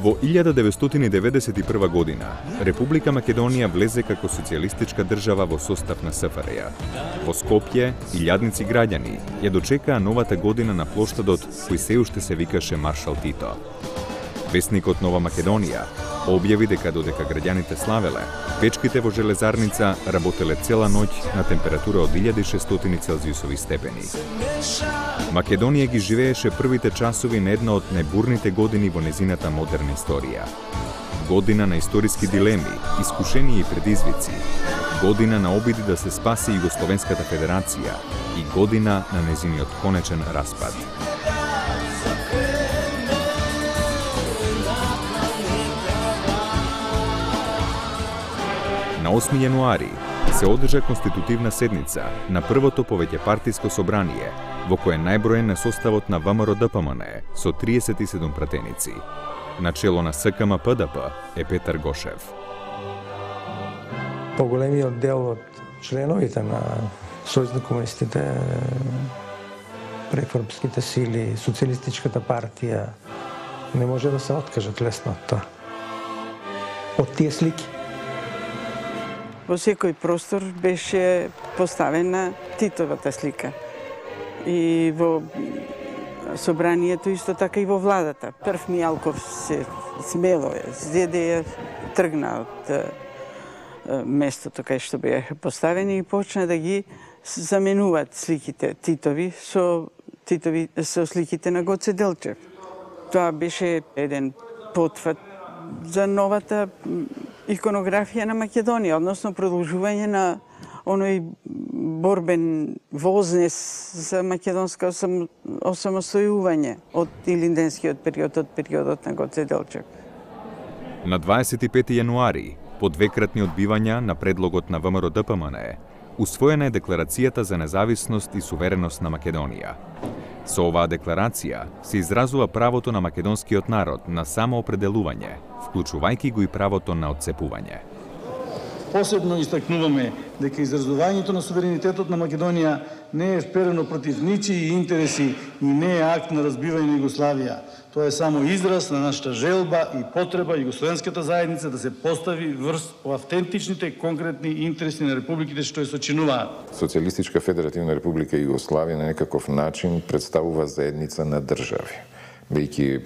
Во 1991 година, Република Македонија влезе како социјалистичка држава во состав на СФРЈ. Во Скопје, илјадници граѓани ја дочекаа новата година на плоштадот кој се уште се викаше Маршал Тито. Весникот Нова Македонија објави дека додека граѓаните славеле, печките во железарница работеле цела ноќ на температура од 1600 целзиусови степени. Македонија ги живееше првите часови на една од најбурните години во незината модерна историја. Година на историски дилеми, искушенија и предизвици, година на обиди да се спаси Југословенската федерација и година на незиниот конечен распад. На 8 јануари се одржа конститутивна седница на првото повеќепартиско собрание, во кое најброен е составот на ВМРО-ДПМН со 37 пратеници. Начело на СКМ-ПДП е Петар Гошев. Поголемиот дел од членовите на Сојуз на комунистите, прекврбските сили, Социјалистичката партија не може да се откажат лесно од тоа. Од тие слики. Во секој простор беше поставена Титовата слика. И во собранието исто така и во владата. Прв Мијалков се смело зеде ја тргна од местото кај што беа поставени и почна да ги заменуваат сликите Титови со сликите на Гоце Делчев. Тоа беше еден потврд за новата иконографија на Македонија, односно продолжување на оној борбен вознес за македонско осамостојување од илинденскиот период, од периодот на Гоце Делчев. На 25 јануари, по двекратни одбивања на предлогот на ВМРО-ДПМН, усвоена е Декларацијата за независност и сувереност на Македонија. Со оваа декларација се изразува правото на македонскиот народ на самоопределување, вклучувајќи го и правото на отцепување. Посебно истакнуваме дека изразувањето на суверенитетот на Македонија не е вперено против ничии интереси и не е акт на разбивање на Југославија. Тоа е само израз на нашата желба и потреба Југословенската заедница да се постави врз автентичните конкретни интереси на републиките што ја сочинуваат. Социјалистичка федеративна република Југославија на некаков начин представува заедница на држави. Бејќи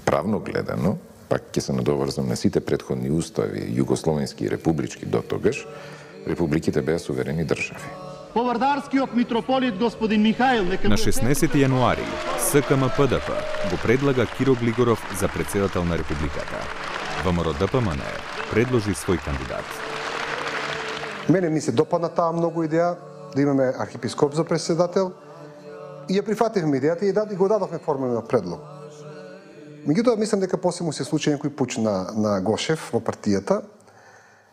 правно гледано, пак ќе се надоврзам на сите претходни устави, југословенски и републички до тогаш, републиките беа суверени држави. Повардарскиот митрополит господин Михаил... На 16 јануари СКМ-ПДП го предлага Киро Глигоров за председател на републиката. ВМРО-ДПМН предложи свој кандидат. Мене ми се допадна таа многу идеја да имаме архиепископ за председател и ја прифативме идејата и го дадовме формален предлог. Меѓутоа, мислам дека после му се случи некој пуч на Гошев во партијата,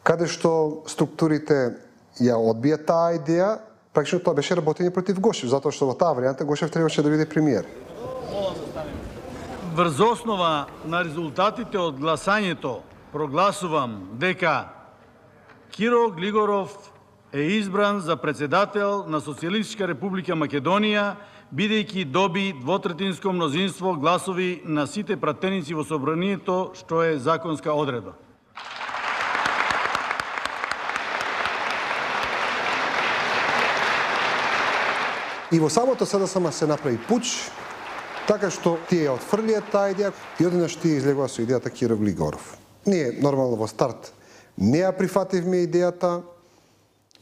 каде што структурите ја одбија таа идеја, практично тоа беше работење против Гошев, затоа што во таа варијанта Гошев требаше да биде премиер. Врз основа на резултатите од гласањето прогласувам дека Киро Глигоров е избран за председател на Социјалистичка република Македонија, бидејќи доби двотретинско мнозинство гласови на сите пратеници во собранието, што е законска одредба. И во самото СДСМ се направи пуч, така што тие ја отфрлија таа идеја и одеднаш тие излегува со идејата Киро Глигоров. Ние нормално во старт не ја прифативме идејата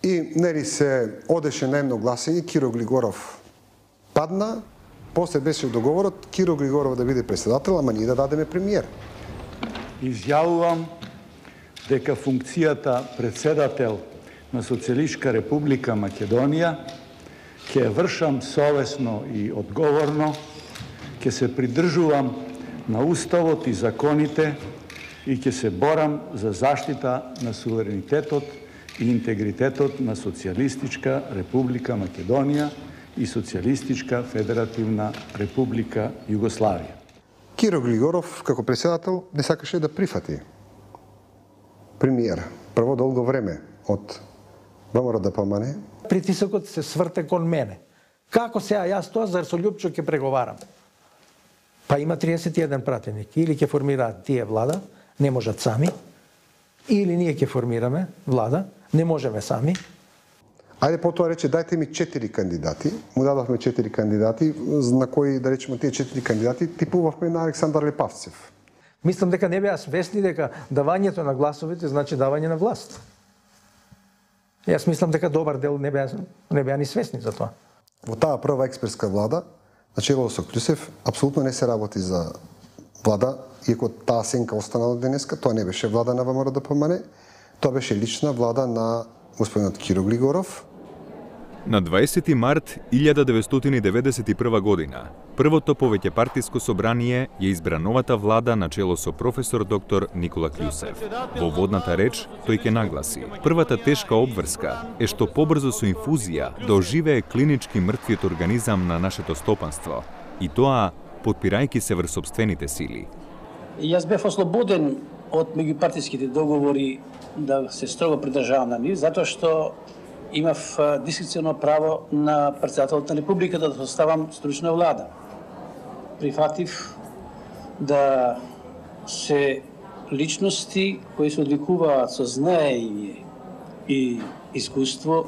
и нели се одеше на едно гласење, Киро Глигоров падна После беше договорот Киро Глигоров да биде председател, ама ние да дадеме премиер. Изјавувам дека функцијата председател на Социјалистичка република Македонија ќе вршам совесно и одговорно, ќе се придржувам на уставот и законите и ќе се борам за заштита на суверенитетот и интегритетот на Социјалистичка република Македонија и Социјалистичка федеративна република Југославија. Киро Глигоров, како председател, не сакаше да прифати премиер. Прво долго време од ВМРО-ДПМН. Притисокот се сврте кон мене. Како сега јас тоа, зар со Љупчо ќе преговарам? Па има 31 пратеник. Или ќе формираат тие влада, не можат сами, или ние ќе формираме влада, не можеме сами. Ајде потоа рече, дајте ми 4 кандидати. Му дадовме 4 кандидати, на кои, да речеме, тие 4 кандидати типувавме на Александар Лепавцев. Мислам дека не беа свесни дека давањето на гласовите значи давање на власт. Јас мислам дека добар дел не беа ни свесни за тоа. Во таа прва експертска влада, начело со Клюсев, апсолутно не се работи за влада, иако таа сенка остана до денеска, тоа не беше влада на ВМРО-ДПМН, тоа беше лична влада на господинот Киро Глигоров. На 20 март 1991 година, првото повеќепартиско собрание ја избра новата влада на чело со професор доктор Никола Клюсев. Во водната реч тој ќе нагласи: првата тешка обврска е што побрзо со инфузија да оживее клинички мртвиот организам на нашето стопанство, и тоа потпирајќи се врз сопствените сили. Јас бев ослободен од меѓупартиските договори да се строго придржавам на нив, затоа што имав дискреционо право на председателот на републиката да составам стручна влада. Прифатив да се личности кои се одликуваат со знаење и искуство,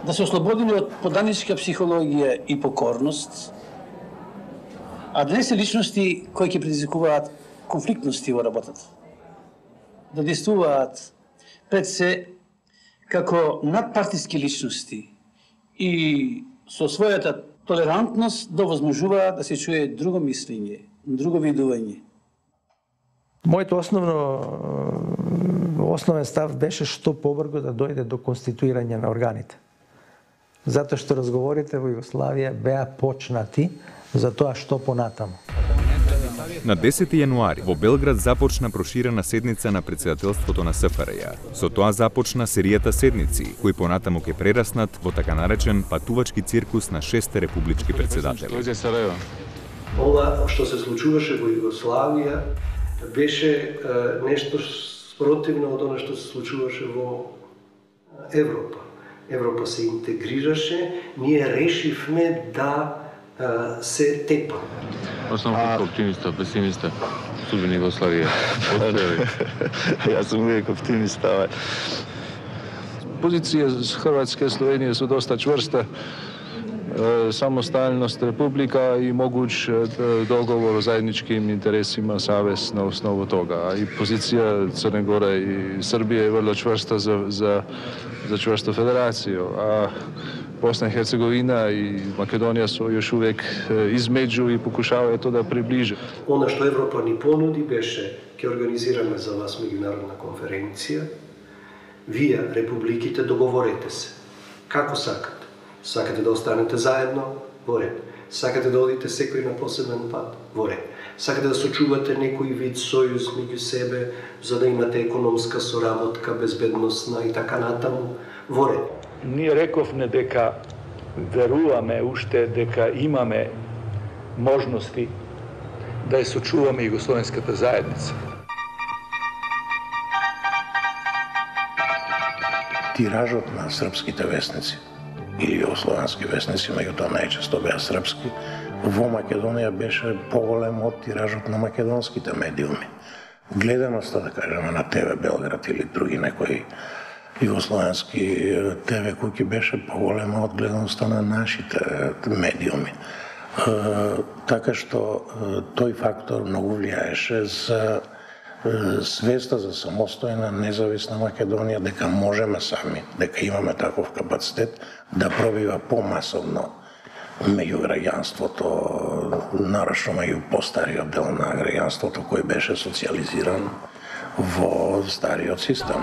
да се ослободени од поданичка психологија и покорност, а да не се личности кои ќе предизвикуваат конфликтности во работата. Да действуваат пред се како надпартиски личности и со својата толерантност да возможуваат да се чуе друго мислење, друго видување. Мојот основен став беше што побрзо да дојде до конституирање на органите. Затоа што разговорите во Југославија беа почнати за тоа што понатаму. На 10 јануари во Белград започна проширена седница на председателството на СФРЈ. Со тоа започна серијата седници, кои понатаму ќе прераснат во така наречен патувачки циркус на 6 републички председатели. Ова што се случуваше во Југославија беше нешто спротивно од она што се случуваше во Европа. Европа се интегрираше, ние решивме да се тепа. Аз сум оптимиста, песимиста. Судбина Југославија. Јас сум увек оптимиста. Позиција Хрватска и Словенија се доста чврста. Самосталност република и могуќ договор о заедничким интересима, савез на основу тога. И позиција Црна Гора и Србија е врло чврста за чврста федерација. А Босна и Херцеговина и Македонија се још увек измеѓу и покушаваат тоа да приближи. Она што Европа ни понуди беше: ќе организираме за вас меѓународна конференција, вие, републиките, договорете се. Како сакате? Сакате да останете заедно? Во ред. Сакате да одите секој на посебен пат? Во ред. Сакате да сочувате некој вид сојуз меѓу себе, за да имате економска соработка, безбедносна и така натаму? Во ред. Ние рековме дека веруваме уште дека имаме можности да ја сочуваме југословенската заедница. Тиражот на српските весници или југословенски весници, меѓутоа најчесто беа српски, во Македонија беше поголем од тиражот на македонските медиуми. Гледаноста, да кажеме, на ТВ Белград или други некои југословенски ТВ куќи беше поголема од гледаноста на нашите медиуми. Така што тој фактор многу влијаеше за свеста за самостојна, независна Македонија, дека можеме сами, дека имаме таков капацитет да пробива помасовно меѓу граѓанството, нарочно меѓу постариот дел на граѓанството кој беше социализиран во стариот систем.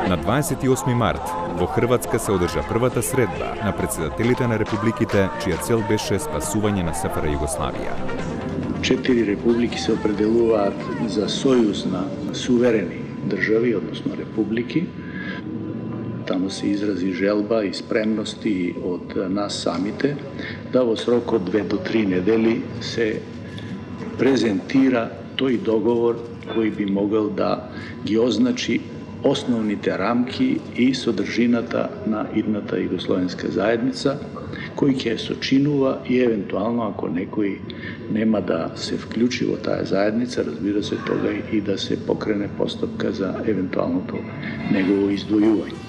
На 28 март во Хрватска се одржа првата средба на председателите на републиките, чија цел беше спасување на СФР Југославија. 4 републики се определуваат за сојуз на суверени држави, односно републики. Таму се изрази желба и спремности од нас самите да во срок од 2 до 3 недели се презентира тој договор кој би могол да ги означи основните рамки и содржината на идната југословенска заедница, кој ќе ја сочинува и евентуално ако некој нема да се вклучи во таа заедница, разбира се тога и да се покрене постапка за евентуалното негово издвојување.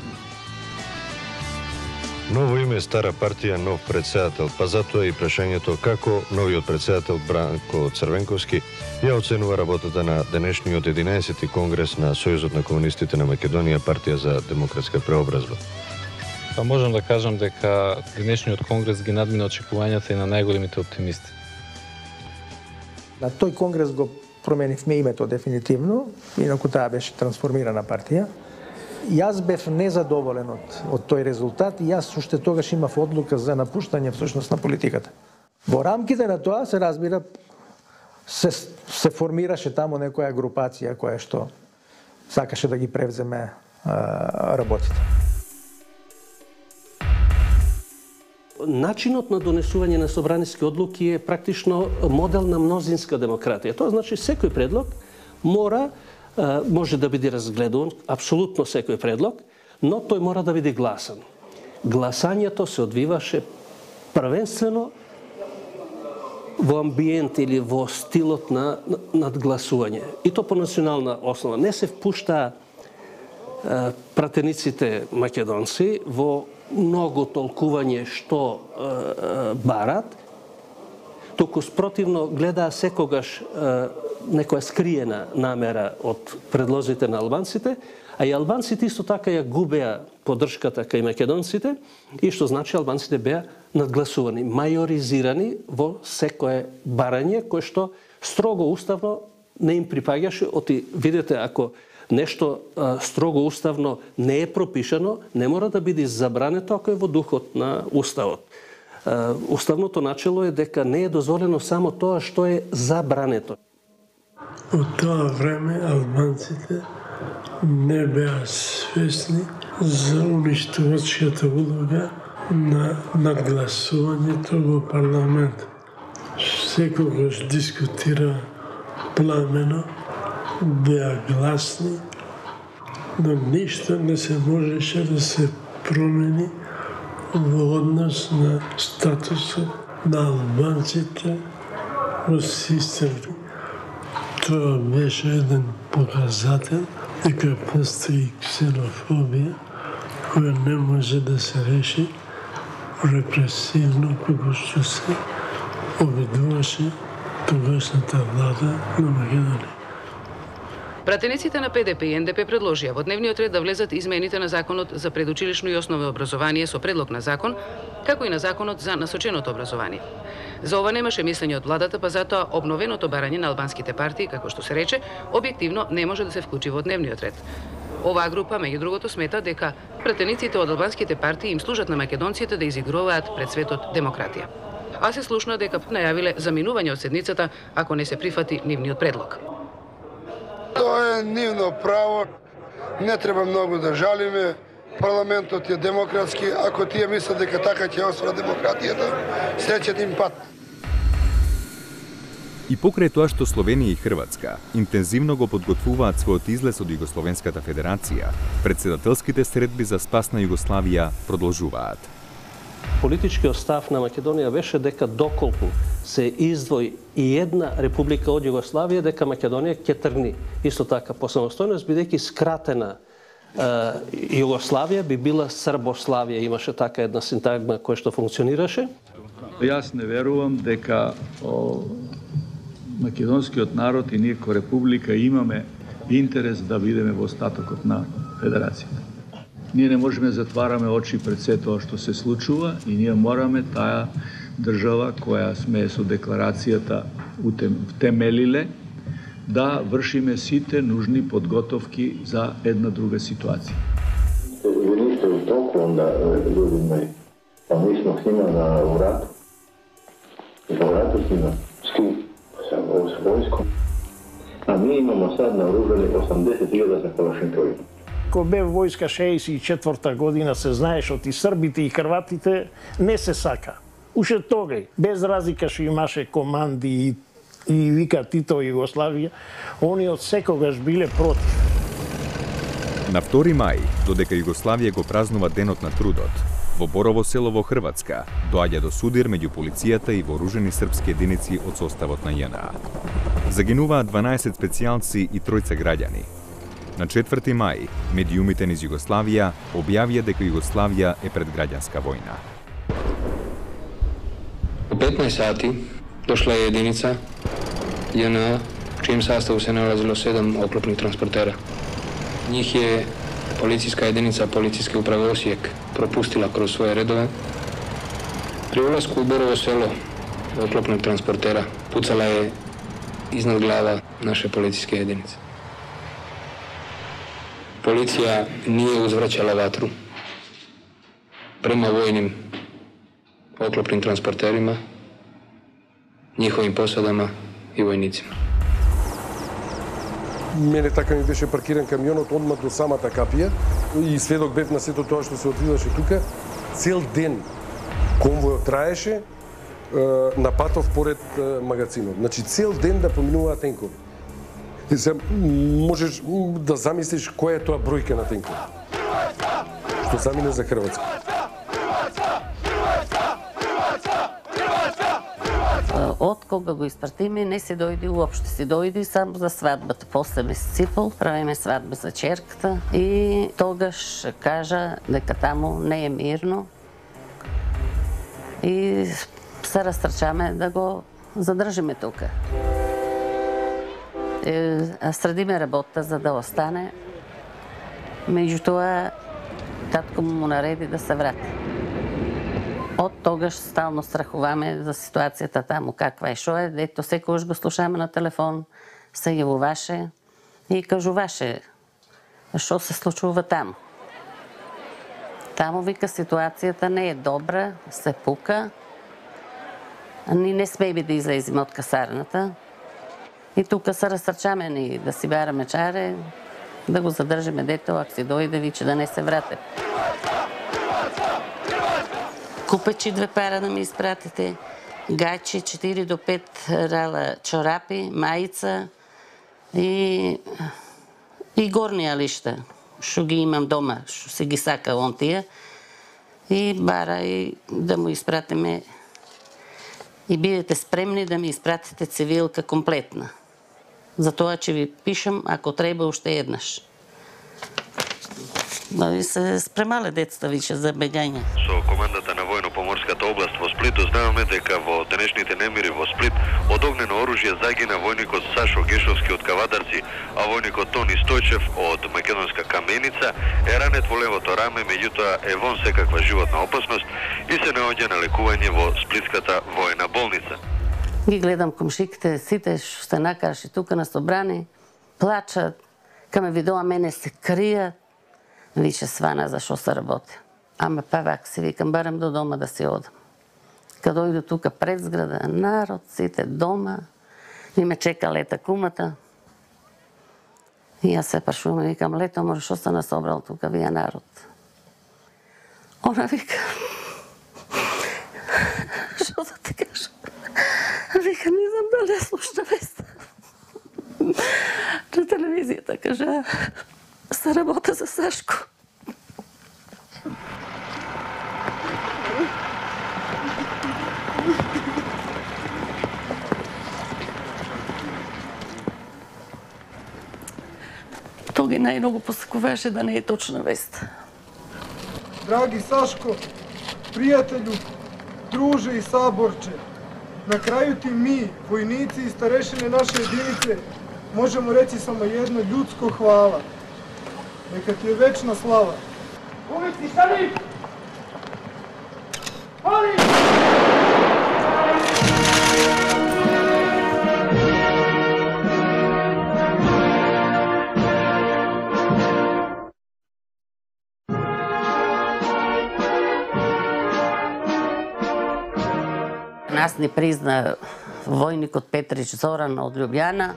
Ново име, стара партија, нов председател, па затоа и прашањето како новиот председател Бранко Црвенковски ја оценува работата на денешниот 11-ти конгрес на Сојузот на комунистите на Македонија, партија за демократска преобразба. Па можам да кажам дека денешниот конгрес ги надмина очекувањата и на најголемите оптимисти. На тој конгрес го променивме името дефинитивно, инаку таа беше трансформирана партија. Јас бев незадоволен од тој резултат и јас уште тогаш имав одлука за напуштање всушност на политиката. Во рамките на тоа се разбира се формираше таму некоја групација која што сакаше да ги превземе работите. Начинот на донесување на собраниски одлуки е практично модел на мнозинска демократија. Тоа значи секој предлог може да биде разгледуван, апсолутно секој предлог, но тој мора да биде гласан. Гласањето се одвиваше првенствено во амбиент или во стилот на надгласување. И то по национална основа. Не се впушта пратениците македонци во многу толкување што барат, туку спротивно гледаа секогаш некоја скриена намера од предлозите на албанците, а и албанците исто така ја губеа поддршката кај македонците и што значи албанците беа надгласувани, мајоризирани во секое барање кое што строго уставно не им припаѓаше. Оти видете, ако нешто строго уставно не е пропишано, не мора да биде забрането ако е во духот на уставот. Уставното начело е дека не е дозволено само тоа што е забрането. Од тоа време албанците не беа свесни за уништувачката улога на надгласувањето во парламент. Секогаш дискутира пламено, беа гласни, но ништо не се можеше да се промени во однос на статусот на албанците во системот. Тоа беше еден показател дека постои ксенофобија која не може да се реши репресивно како што се обидуваше тогашната влада на Македонија. Пратениците на ПДП и НДП предложија во дневниот ред да влезат измените на Законот за предучилишно и основно образование со предлог на закон, како и на Законот за насоченото образование. За ова немаше мислење од владата, па затоа обновеното барање на албанските партии, како што се рече, објективно не може да се вклучи во дневниот ред. Оваа група, меѓу другото, смета дека пратениците од албанските партии им служат на македонците да изигруваат пред светот демократија. А се слушна дека најавиле заминување од седницата ако не се прифати нивниот предлог. Тоа е нивно право, не треба многу да жалиме, парламентот е демократски, ако тие мислат дека така ќе освара демократијата, среќен им пат. И покрај тоа што Словенија и Хрватска интензивно го подготвуваат својот излез од Југословенската федерација, председателските средби за спас на Југославија продолжуваат. Политичкиот став на Македонија беше дека доколку се издвои и една република од Југославија, дека Македонија ќе тргни исто така по самостојност, бидејќи скратена Југославија би била Србославија, имаше така една синтагма која што функционираше. Јас не верувам дека македонскиот народ и ние ко република имаме интерес да бидеме во остатокот на федерацијата. Ние не можеме да затвараме очи пред се тоа што се случува и ние мораме таа држава која сме со декларацијата втемелиле да вршиме сите нужни подготовки за една друга ситуација. Ви нiste u toku onda, ljudi moji, pa mi smo s njima u ratu. U ratu s njima. S kim? S vojskom. A mi imamo sad naoružani 80.000 za Kalašinkovima. Ко бе војска 64-та година се знаеш од и србите и хрватите не се сака. Уште тогај, без разлика што имаше команди и вика Тито Југославија, они од секогаш биле против. На 2 мај, додека Југославија го празнува Денот на трудот, во Борово село во Хрватска доаѓа до судир меѓу полицијата и вооружени српски единици од составот на ЈНА. Загинуваат 12 специјалци и 3 граѓани. На 4 мај, медиумите низ Југославија објавија дека Југославија е пред граѓанска војна. У 15 сати дошла е единица ЈНА, в чиjem sastavu se nalazilo 7 oklopnih transportera. Njih je policijska jedinica Policijske uprave Osijek propustila kroz svoje redove. Pri ulasku u Borovo selo oklopnog transportera pucala je iznad glava naše policijske jedinice. Policija nije uzvraćala vatru prema vojnim oklopnim transporterima, njihovim posadama i vojnicima. Мене така ми беше паркиран камионот одма до самата капија и сведок бев на сето тоа што се одвиваше тука. Цел ден конвојот траеше на патов поред магазинот. Значи цел ден да поминуваат тенкови. И се можеш да замислиш која е тоа бројка на тенкови. Што замине за Хрватска. Од кога го испратиме, не се дојди уопште. Се дојди само за свадбата. После ме сципал, правиме свадба за черката и тогаш кажа дека таму не е мирно и се растрчаме да го задржиме тука. Средиме работа за да остане. Меѓутоа, татко му нареди да се врати. Од тогаш стално страхуваме за ситуацијата таму, каква е, шо е. Дето секојаш го слушаме на телефон, се јавуваше и кажуваше шо се случува таму. Таму вика ситуацијата не е добра, се пука. Ни не смееме да излеземе од касарната. И тука се растрчаме ни да си бараме чаре, да го задржиме дето, ако си дојде, виче да не се врате. Купечи 2 пара да ми испратите, гачи 4 до 5 рала чорапи, мајца и горни алишта, што ги имам дома, што се ги сака он тие. И бара и да му испратиме и бидете спремни да ми испратите цивилка комплетна. Затоа че ви пишам, ако треба уште еднаш. И се спремале децата више за бегање. Со командата на војно-поморската област во Сплит дознаваме дека во денешните немири во Сплит од огнено оружје загина војникот Сашо Гешовски од Кавадарци, а војникот Тони Стојчев од македонска Каменица е ранет во левото раме, меѓутоа е вон секаква животна опасност и се наоѓа на лекување во Сплитската војна болница. Ги гледам комшиките, сите што се накараши тука на собрани, плачат, каме видоа мене се кријат. Више свана за шо се работи. Ама па вак си викам, барам до дома да си одам. Кад дојду тука пред зграда, народ, сите дома, и ме чека Лета кумата. И јас се прашувам и викам, Лето, може шо се насобрал тука, вие народ? Она вика, шо да ти кажам? Вика, не знам дали ја слушна веста. На телевизијата кажа, се работа за Сашко. Тоа ги најмногу посакуваше да не е точна веста. Драги Сашко, пријателju, друже и саборче, на крају ти ми, војници и старешини наше единице, можемо речи само едно људско хвала. Нека ти е вечна слава. Ulici, stani! Pali! Нас не призна војникот Петрич Зоран од Љубљана.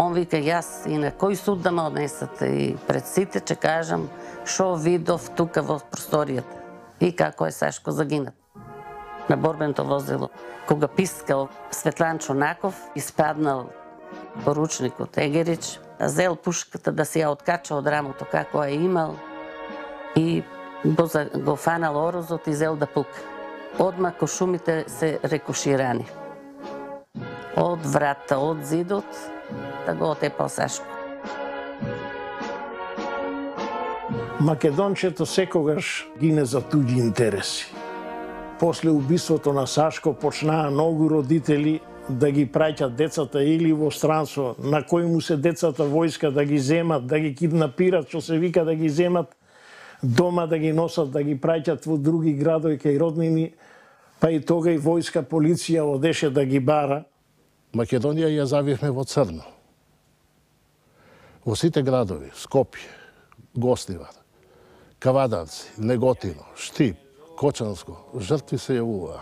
Он вика, јас и на кој суд да ме однесете, и пред сите ќе кажам шо видов тука во просторијата и како е Сашко загинат на борбеното возило. Кога пискал Светлан Чонаков, испаднал поручникот Егерич, зел пушката да си ја откача од рамото како е имал и го фанал орозот и зел да пука. Одма кошумите се рекоширани. Од врата, од зидот, да го отепал Сашко. Македончето секогаш гине за туѓи интереси. После убиството на Сашко почнаа многу родители да ги праќат децата или во странство, на кои му се децата војска да ги земат, да ги киднапират, што се вика да ги земат дома, да ги носат, да ги праќат во други градови кај роднини, па и тога и војска, полиција одеше да ги бара. Македонија ја завивме во црно. Во сите градови, Скопје, Гостивар, Кавадарци, Неготино, Штип, Кочанско, жртви се јавуваа.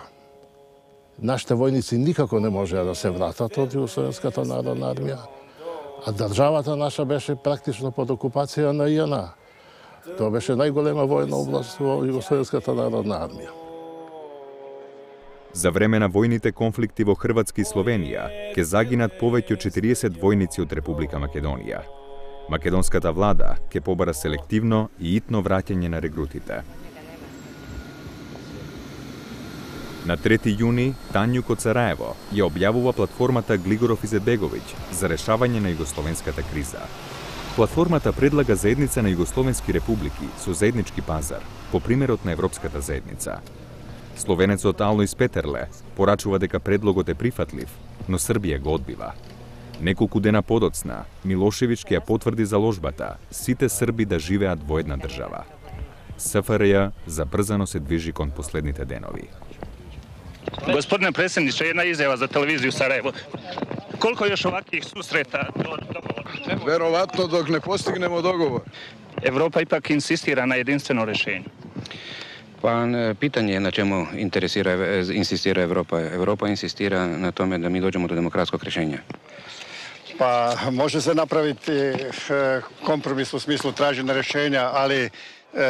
Нашите војници никако не можеа да се вратат од Југословенската народна армија, а државата наша беше практично под окупација на ЈНА. Тоа беше најголема војна област во Југословенската народна армија. За време на војните конфликти во Хрватска и Словенија ќе загинат повеќе од 40 војници од Република Македонија. Македонската влада ќе побара селективно и итно враќање на регрутите. На 3 јуни Танјук од Сараево ја објавува платформата Глигоров Изетбеговиќ за решавање на југословенската криза. Платформата предлага заедница на југословенски републики со заеднички пазар, по примерот на Европската заедница. Словенецот Алојс Петерле порачува дека предлогот е прифатлив, но Србија го одбива. Неколку дена подоцна, Милошевиќ ќе ја потврди заложбата сите срби да живеат во една држава. СФРЈ забрзано се движи кон последните денови. Господине председниче, една изјава за телевизију Сараево. Колко још оваквих сусрета до договор? Веројатно док не постигнемо договор. Европа ипак инсистира на единствено решење. Па питање на чему инсистира Европа. Европа инсистира на томе да ми доđemo до демократскog решења. Па може се направити компромис у смислу тражење решења, али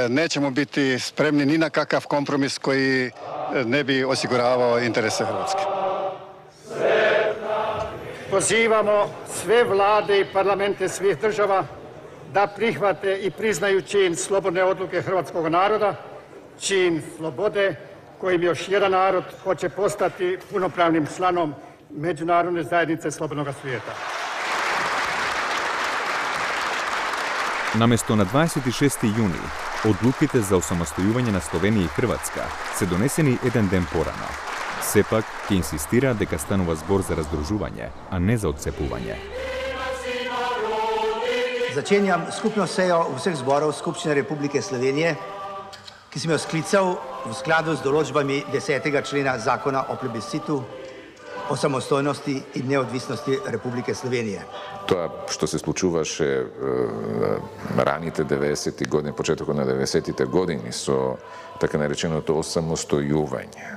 неćemo biti spremni ni na kakav kompromis koji ne bi osiguravao interese Hrvatske. Pozivamo sve vlade i parlamente svih država da prihvate i priznaju čin slobodne odluke hrvatskog naroda, čin slobode kojim još jedan narod hoće postati punopravnim članom međunarodne zajednice slobodnog svijeta. Наместо на 26. јуни, одлуките за осамостојување на Словенија и Хрватска се донесени еден ден порано. Сепак, ќе инсистира дека станува збор за раздружување, а не за отцепување. Začenjam skupno sejo vseh zborov Skupščine Republike Slovenije, ki sem jo sklical v skladu z določbami 10. člena Zakona o plebiscitu o samostojnosti i neodvisnosti Republike Slovenije. Тоа што се случуваше раните 90-ти години, почетокот на 90-тите години со така нареченото осамостојување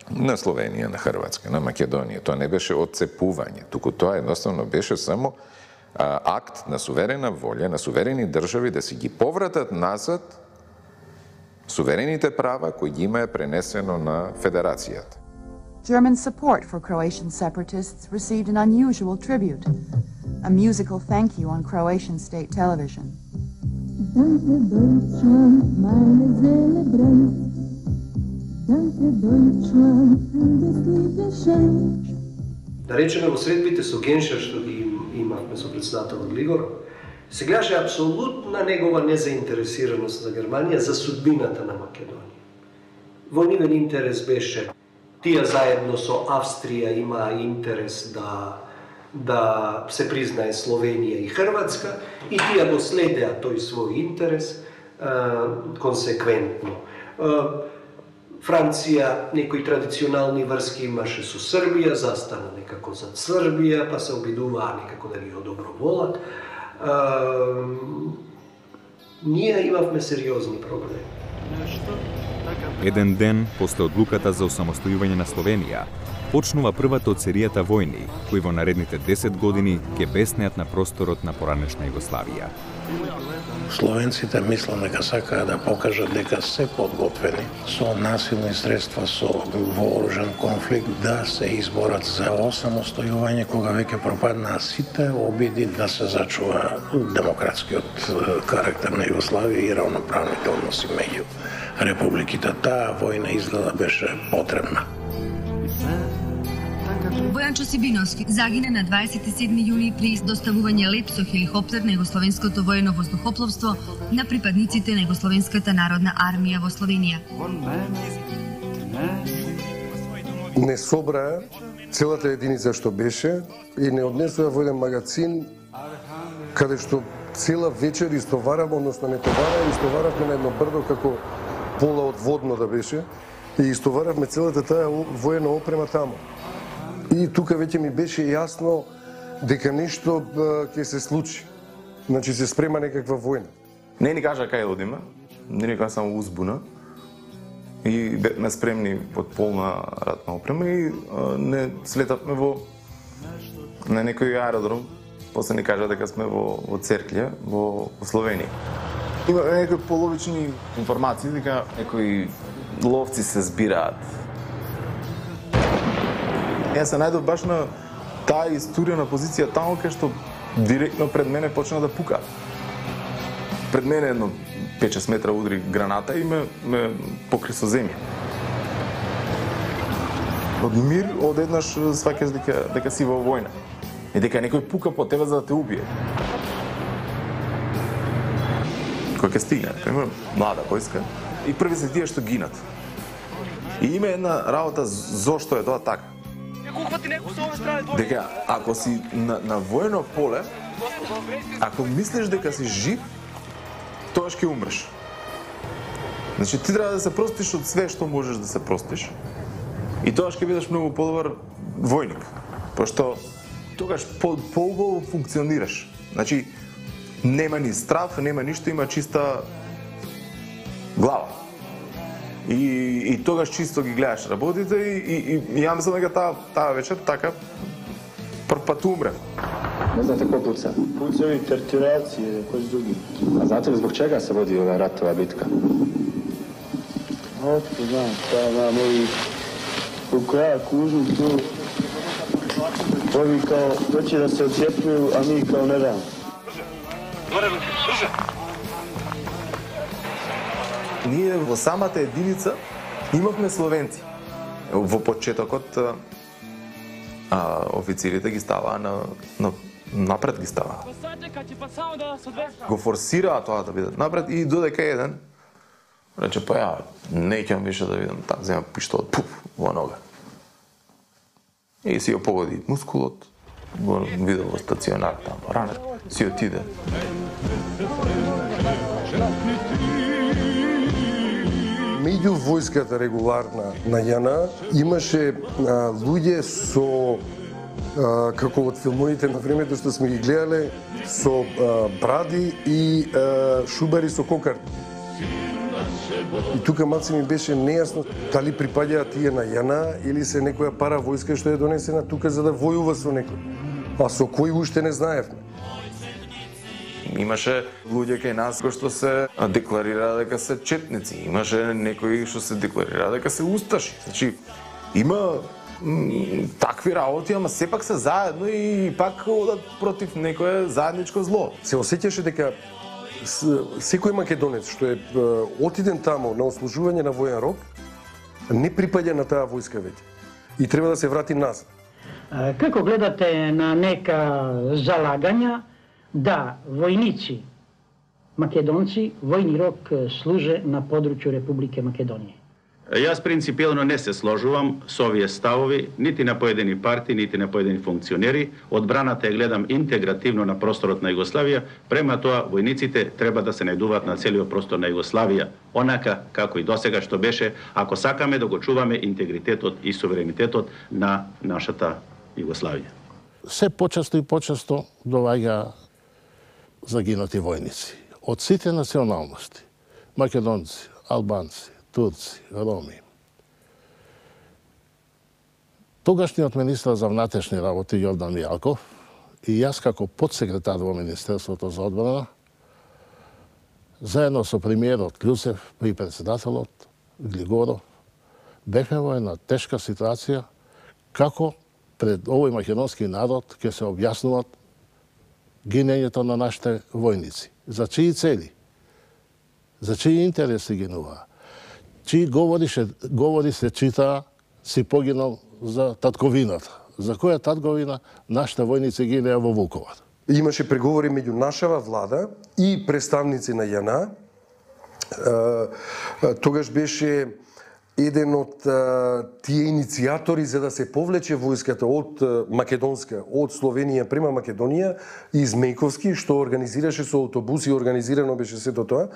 на Словенија, на Хрватска, на Македонија, тоа не беше отцепување, туку тоа едноставно беше само акт на суверена волја, на суверени држави да си ги повратат назад суверените права кои ги има пренесено на Федерацијата. German support for Croatian separatists received an unusual tribute, a musical thank you on Croatian state television. Danke Deutschland, meine Seele brennt. Danke Deutschland, für das liebe Schenk. Да речеме, во средбите со Геншер, што ги имавме со председателот Глигор, се гледаше апсолутна негова незаинтересираност за Германија за судбината на Македонија. Во нивен интерес беше тие заедно со Австрија имаа интерес да се признае Словенија и Хрватска и тие го следеа тој свој интерес консеквентно. Франција некои традиционални врски имаше со Србија, застана некако за Србија, па се обидуваа некако да ги одоброволат. Ние имавме сериозни проблеми. Еден ден после одлуката за осамостојување на Словенија, почнува првата од серијата војни, кои во наредните 10 години ќе беснеат на просторот на поранешна Југославија. Словенците мислам дека сакаат да покажат дека се подготвени со насилни средства, со вооружен конфликт да се изборат за осамостојување кога веќе пропаднаа сите обиди да се зачува демократскиот карактер на Југославија и равноправните односи меѓу републиките. Таа војна изгледа беше потребна. Бојан Чосибиновски загина на 27 јуни при доставување леп со хеликоптер на Југословенското воено воздухопловство на припадниците на Југословенската народна армија во Словенија. Не собраа целата единица што беше и не однесоа во еден магазин каде што цела вечер истоварам, односно не истоваравме на едно брдо како пола од водно да беше и истоваравме целата таа воена опрема таму. И тука веќе ми беше јасно дека нешто ќе се случи. Значи се спрема некаква војна. Не ни кажа кај одиме, не ни кажа само узбуна. И бевме спремни под полна ратна опрема и не слетавме на некој аеродром. После ни кажа дека сме во Церклје, во Словенија. Има некои половични информации дека некои ловци се збираат. Јас се најдов баш на таа историја позиција таму кај што директно пред мене почна да пука. Пред мене едно 5-6 метра удри граната и ме покри со земја. Од мир одеднаш сваќаш дека си во војна. И дека некој пука по тебе за да те убие. Кој ќе стигне, пример, млада војска. И први се тие што гинат. И има една работа зошто е тоа така. Дека ако си на воено поле, ако мислиш дека си жив, тогаш ќе умреш. Значи ти треба да се простиш од све што можеш да се простиш. И тогаш ќе бидеш многу подобар војник. Пошто тогаш поубаво функционираш. Значи нема ни страв, нема ништо, има чиста глава. И тогаш чисто ги гледаш работите и ја мислам дека таа вечер така прв пат умре. Не знате кој пуца? Пуцеви, тертирација, кој други. А знате ли због чега се води ова ратова битка? Отко знам, таа мои у краја кужу ту ови као доќе да се оцепнуju, а ми као не дам. Ние во самата единица имавме словенци. Во почетокот официрите ги ставаа напред ги ставаа. Го форсираа тоа да бидат напред и додека еден рече па ја неќам више да видам така зема пиштол пуф во нога. И си ја погоди мускулот, го видел во стационар таму ранет, си отиде. Меѓу војската регуларна на ЈНА имаше луѓе со како од филмовите на времето што сме ги гледале со бради и шубари со кокарди. И тука малце ми беше нејасно дали припаѓаат тие на ЈНА или се некоја пара војска што е донесена тука за да војува со некој. А со кој уште не знаевме. Имаше луѓе кај нас кои што се декларираа дека се четници, имаше некои што се декларираа дека се усташи. Значи има такви работи, ама сепак се заедно и пак одат против некое заедничко зло. Се осеќаше дека секој македонец што е отиден таму на ослужување на воен рок не припаѓа на таа војска веќе и треба да се врати назад. Како гледате на нека залагања да војници македонци војни рок служе на подручју Република Македонија? Јас принципијално не се сложувам со овие ставови, нити на поедини партии, нити на поедини функционери. Одбраната ја гледам интегративно на просторот на Југославија, према тоа војниците треба да се најдуваат на целиот простор на Југославија, онака како и досега што беше, ако сакаме да го чуваме интегритетот и суверенитетот на нашата Југославија. Се почесто и почесто доваѓа загинати војници од сите националности, македонци, албанци, турци, роми. Тогашниот министар за внатрешни работи Јордан Мијалков и јас како подсекретар во Министерството за одбрана, заедно со премиерот Клюсев и председателот Глигоров, бевме во една тешка ситуација како пред овој македонски народ ќе се објаснуваат гинењето на нашите војници. За чии цели? За чии интереси гинуваа? Чии говори се читаа си погинал за татковината. За која татковина нашите војници гинеа во Вуковар? Имаше преговори меѓу нашава влада и представници на ЈНА. Тогаш беше еден од тие иницијатори за да се повлече војската од македонска, од Словенија према Македонија, из Мејковски, што организираше со автобуси, организирано беше сето тоа,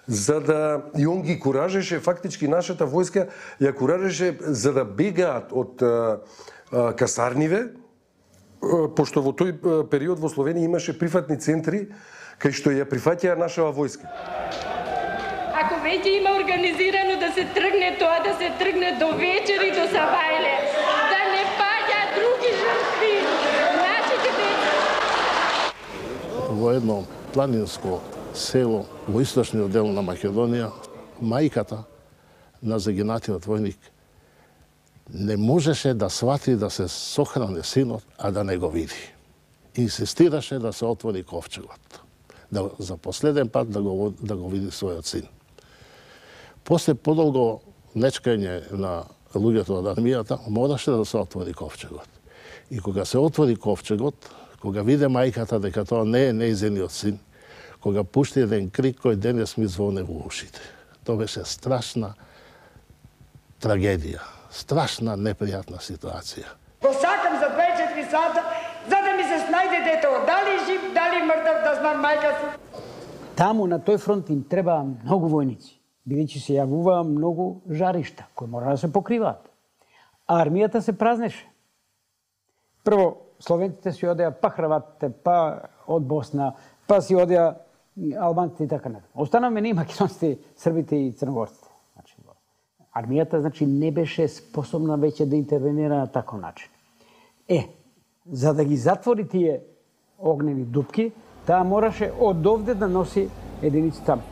за да и он ги куражеше, фактички нашата војска ја куражеше за да бегаат од касарниве, пошто во тој период во Словенија имаше прифатни центри кај што ја прифаќаа нашава војска. Ако веќе има организирано да се тргне тоа, да се тргне до вечери, до Сабајле, да не паѓа други жртви, нашите деца. Во едно планинско село во источниот дел на Македонија, мајката на загинатиот војник не можеше да свати да се сохране синот, а да не го види. Инсистираше да се отвори ковчегот, за последен пат да го види својот син. После подолго нечкање на луѓето од армијата, мораше да се отвори ковчегот. И кога се отвори ковчегот, кога виде мајката дека тоа не е нејзиниот син, кога пушти еден крик кој денес ми звоне во ушите. Тоа беше страшна трагедија, страшна непријатна ситуација. Го сакам за 24 сата, за да ми се снајде детето, дали жив, дали мртв, да знам мајка си. Таму на тој фронт им треба многу војници, бидејќи се јавуваа многу жаришта кои мора да се покриваат. А армијата се празнеше. Прво, словенците си одеа, па хрватите, па од Босна, па си одеа албанците и така натаму. Останаме ние македонците, србите и црногорците. Армијата не беше способна веќе да интервенира на таков начин. За да ги затвори тие огневи дупки, таа мораше од овде да носи единици таму.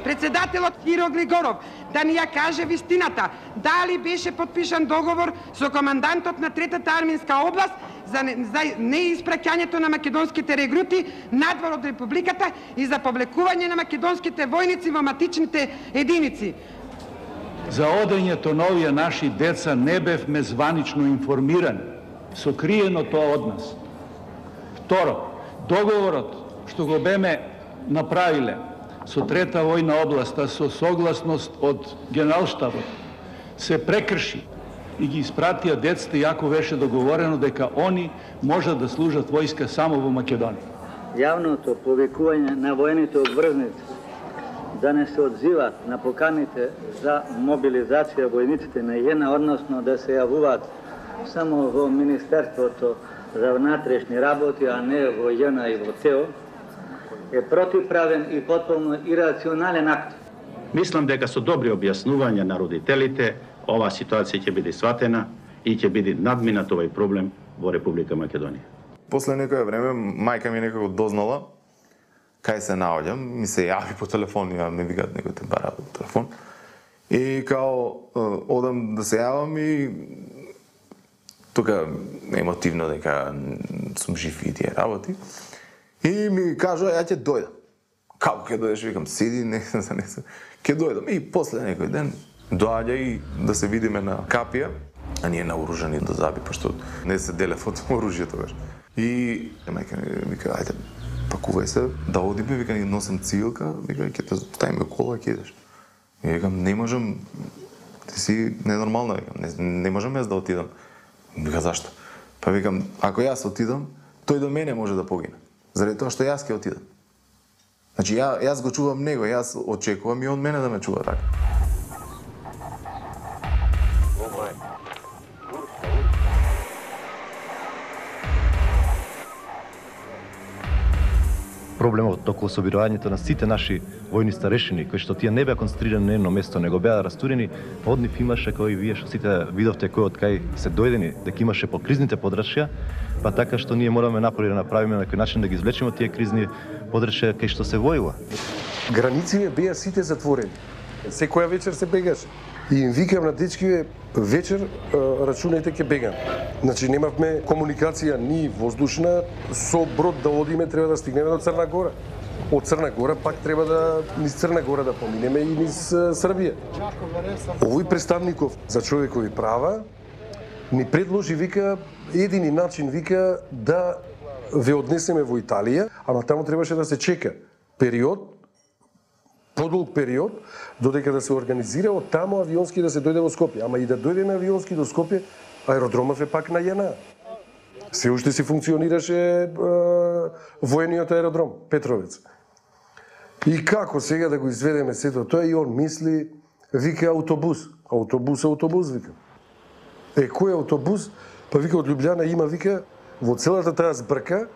Председателот Киро Глигоров да ни ја каже вистината, дали беше подпишан договор со командантот на Третата арминска област за неиспраќањето на македонските регрути надвор од Републиката и за повлекување на македонските војници во матичните единици. За одењето на овие наши деца не бевме званично информирани, сокриено тоа од нас. Второ, договорот што го беме направиле со Трета војна област, а со согласност од Генералштабот, се прекрши и ги испратија децата, иако беше договорено дека они можат да служат војска само во Македонија. Јавното повикување на војните обврзници да не се одзиват на поканите за мобилизација војниците на ЈНА, односно да се јавуваат само во Министерството за внатрешни работи, а не во ЈНА и во ТЕО, е противправен и потполно ирационален акт. Мислам дека со добри објаснувања на родителите, оваа ситуација ќе биде сватена и ќе биде надминат овој проблем во Република Македонија. После некое време мајка ми некако дознала кај се наоѓам, ми се јави по телефон, ми викаат некој те бара по телефон. И као одам да се јавам и тука емотивно дека сум жив и тие работи. И ми кажа, ја ќе дојдам. Како ќе дојдеш? Викам, сиди, не ќе дојдам. И после некој ден доаѓа и да се видиме на капија, а ние наоружани до заби, пошто не се делев од оружје тогаш. И мајка ми вика, ајде, пакувај се, да одиме, вика, носам цилка, вика, ќе те ставиме кола, ќе идеш. И викам, не можам, Ти си ненормално, не можам јас да отидам. Вика, зашто? Па викам, ако јас отидам, тој до мене може да погине. Заради тоа што јас ќе отидам. Значи, јас го чувам него, јас очекувам и он мене да ме чува така. Проблемот околу собирањето на сите наши војни старешини, кои што тие не беа концентрирани на едно место, него беа растурени, од нив имаше, кои вие што сите видовте кој од кај се дојдени, дека имаше по кризните подрачја, па така што ние мораме напори да направиме на кој начин да ги извлечеме од тие кризни подрачја кај што се војува. Границите беа сите затворени. Секоја вечер се бегаше. И им викам на дечкиве, вечер рачунајте ќе бегам. Значи немавме комуникација ни воздушна, со брод да одиме треба да стигнеме до Црна Гора. Од Црна Гора пак треба да низ Црна Гора да поминеме и низ Србија. Овој представников за човекови права ни предложи, вика, едини начин, вика, да ве однесеме во Италија, ама таму требаше да се чека период, подолг период, додека да се организира од таму авионски да се дојде во Скопје. Ама и да дојдеме авионски до Скопје, аеродромов е пак на JNA. Се уште си функционираше воениот аеродром, Петровец. И како сега да го изведеме сето тоа, и он мисли, вика автобус. Автобус, вика. Кој е автобус? Па вика од Лјубљана има, вика, во целата таа збрка,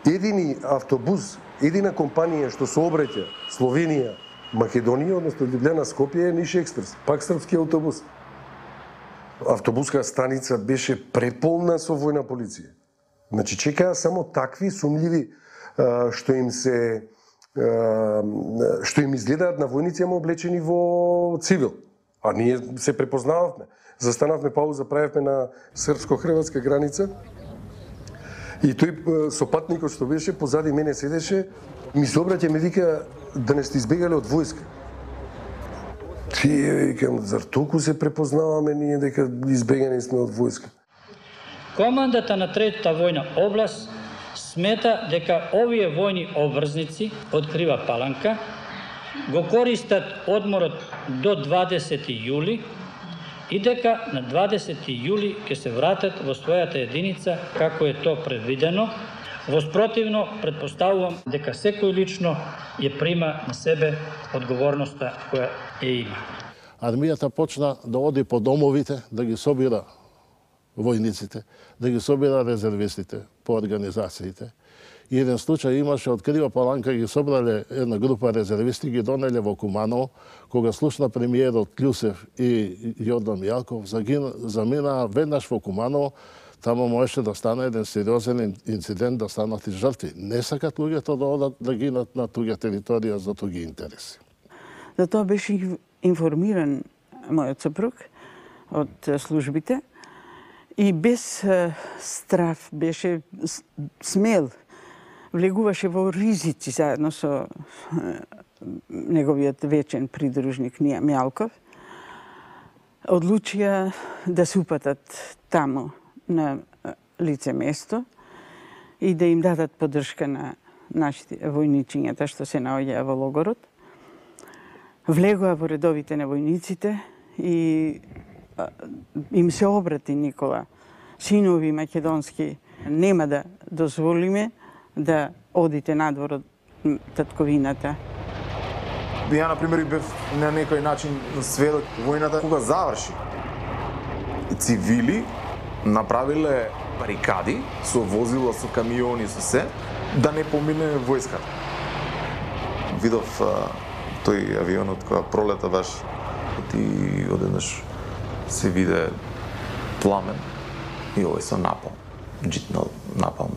едини автобус, едина компанија што сообраќа Словенија, Македонија, односно Лјубљана, Скопје е Ниш Експрес, пак српски автобус. Автобуска станица беше преполна со војна полиција. Значи чекаа само такви сумљиви што им изгледаат на војници, ама облечени во цивил. А ние се препознававме. Застанавме пауза, правевме на српско-хрватска граница. И тој сопатникот што беше позади мене седеше, ми се обраќа, ми вика, да не сте избегале од војска. Тие, викам, зар толку се препознаваме ние дека избегани сме од војска? Командата на третата војна област смета дека овие војни обврзници од Крива Паланка го користат одморот до 20 јули и дека на 20 јули ќе се вратат во својата единица како е то предвидено. Воспротивно, предпоставувам дека секој лично ја прима на себе одговорноста која ја има. Армијата почна да оди по домовите, да ги собира војниците, да ги собира резервистите по организациите. И еден случај имаше од Крива Паланка, ги собрале една група резервисти, ги донеле во Куманово, кога слушна премиерот Клюсев и Јордан Јалков, заминаа веднаш во Куманово. Таму можеше да стане еден сериозен инцидент, да станат и жртви. Не сакат луѓето да одат да гинат на туѓа територија за туѓи интереси. За тоа беше информиран мојот сопруг од службите и без страф беше смел. Влегуваше во ризици заедно со неговиот вечен придружник Мјалков. Одлучија да се упатат таму на лице место и да им дадат поддршка на нашите војничињата што се наоѓаа во логорот. Влегоа во редовите на војниците и им се обрати Никола. Синови македонски, нема да дозволиме да одите надвор од татковината. Ја, например, бев на некој начин сведок војната кога заврши. Цивили направиле барикади со возила, со камиони, со се, да не помине војската. Видов тој авионот која пролета баш и одеднаш се виде пламен и овој со напал. Джитнал напал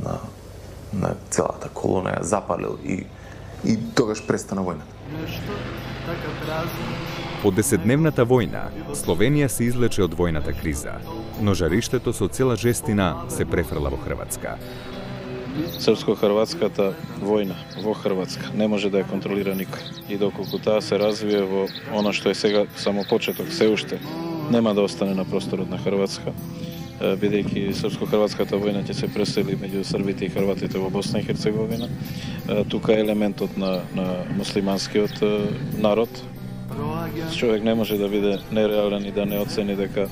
на целата колона, ја запалил и тогаш престана војната. По 10-дневната војна, Словенија се излече од војната криза, но жариштето со цела жестина се префрла во Хрватска. Српско-хрватската војна во Хрватска не може да ја контролира никој. И доколку таа се развие во она што е сега само почеток, се уште нема да остане на просторот на Хрватска, бидејќи српско-хрватската војна ќе се пресели меѓу србите и хрватите во Босна и Херцеговина. Тука е елементот на муслиманскиот народ. човек не може да биде нереален и да не оцени дека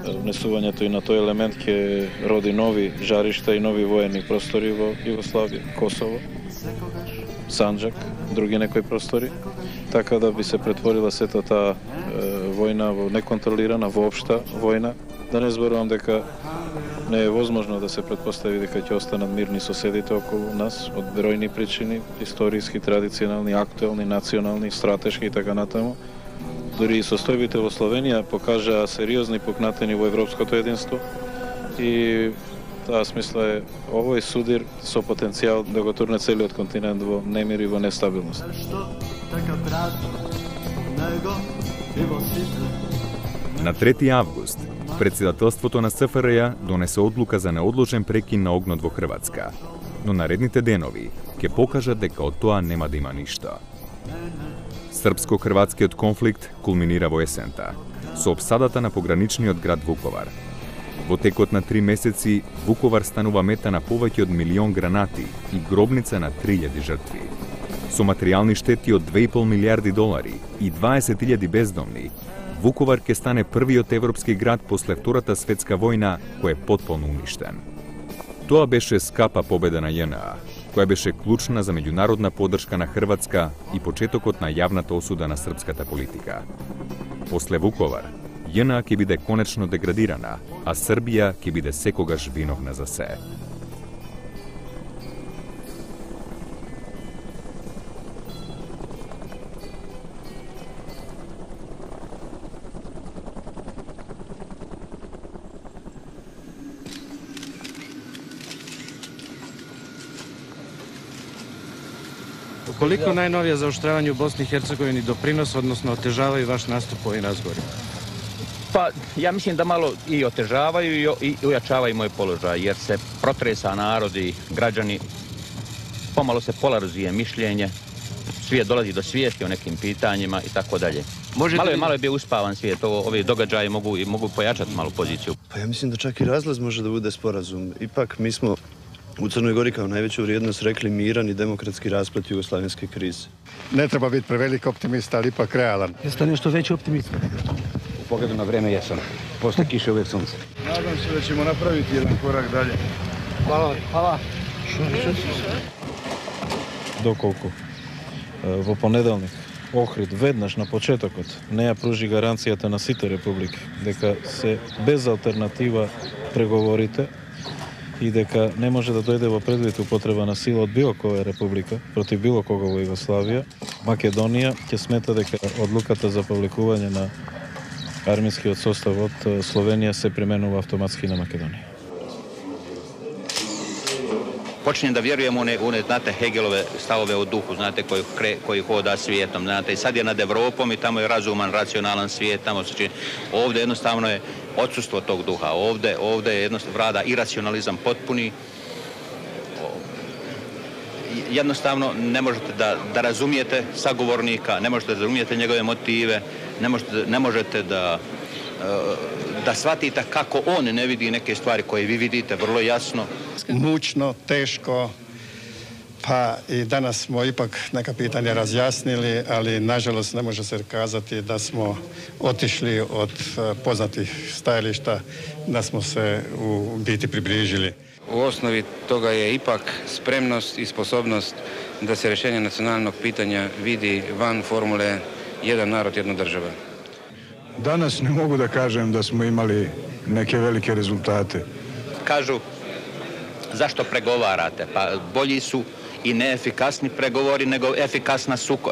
внесувањето и на тој елемент ќе роди нови жаришта и нови воени простори во Југославија, Косово, Санџак, други некои простори, така да би се претворила сета таа војна во неконтролирана, воопшта војна. Да не зборувам дека не е возможно да се претпостави дека ќе останат мирни соседите околу нас од бројни причини, историски, традиционални, актуелни, национални, стратешки и така натаму. Дури и состојбите во Словенија покажаа сериозни пукнатини во европското единство и таа смисла е овој судир со потенцијал да го турне целиот континент во немир и во нестабилност. На 3 август, председателството на СФРЈ донесе одлука за неодложен прекин на огнот во Хрватска, но наредните денови ќе покажат дека од тоа нема да има ништо. Српско-хрватскиот конфликт кулминира во есента, со опсадата на пограничниот град Вуковар. Во текот на 3 месеци, Вуковар станува мета на повеќе од 1 милион гранати и гробница на 3000 жртви. Со материјални штети од 2,5 милиарди долари и 20.000 бездомни, Вуковар ќе стане првиот европски град после Втората светска војна кој е потполно уништен. Тоа беше скапа победа на ЈНА, која беше клучна за меѓународна поддршка на Хрватска и почетокот на јавната осуда на српската политика. После Вуковар, ЈНА ќе биде конечно деградирана, а Србија ќе биде секогаш виновна за се. Колико најновија заоштравање у Босни и Херцеговини допринос, односно отежава и ваш наступ по овој разговори? Pa ja mislim da malo i otežavaju i ujačavaju moj položaj, jer se protresa narod i građani, pomalo se polarizuje mišljenje, svijet dolazi do svijesti o nekim pitanjima i tako dalje. Malo je bio uspavan svijet, ovi događaji mogu pojačati malo poziciju. Pa ja mislim da čak i razlaz može da bude sporazum. Ipak mi smo u Crnoj Gori kao najveću vrijednost rekli miran i demokratski rasplet jugoslavenske krize. Ne treba biti prevelik optimista, ali ipak realan. Jeste nešto veći optimist? U pogledu na vreme jesam. Posle kiše uvijek sunce. Nadam se da ćemo napraviti jedan korak dalje. Hvala. Hvala. Доколку во понеделник Охрид веднаш на почетокот не ја пружи гаранцијата на сите републики дека се без алтернатива преговорите и дека не може да дојде во предвид употреба на сила од било која република против било кого во Југославија, Македонија ќе смета дека одлуката за повлекување на армискиот состав од Словенија се применува автоматски на Македонија. Počinjem da vjerujem u one, znate, Hegelove stavove o duhu, znate, koji hoda svijetom, znate, i sad je nad Evropom i tamo je razuman, racionalan svijet, tamo se čini. Ovdje jednostavno je odsustvo tog duha, ovdje je jednostavno vlada iracionalizam potpuni. Jednostavno ne možete da razumijete sagovornika, ne možete da razumijete njegove motive, ne možete da shvatite kako on ne vidi neke stvari koje vi vidite vrlo jasno. Mučno, teško, pa i danas smo ipak neka pitanja razjasnili, ali nažalost ne može se kazati da smo otišli od poznatih stajališta, da smo se u biti približili. U osnovi toga je ipak spremnost i sposobnost da se rješenje nacionalnog pitanja vidi van formule jedan narod, jedna država. Danas ne mogu da kažem da smo imali neke velike rezultate. Kažu, zašto pregovarate? Pa bolji su i neefikasni pregovori nego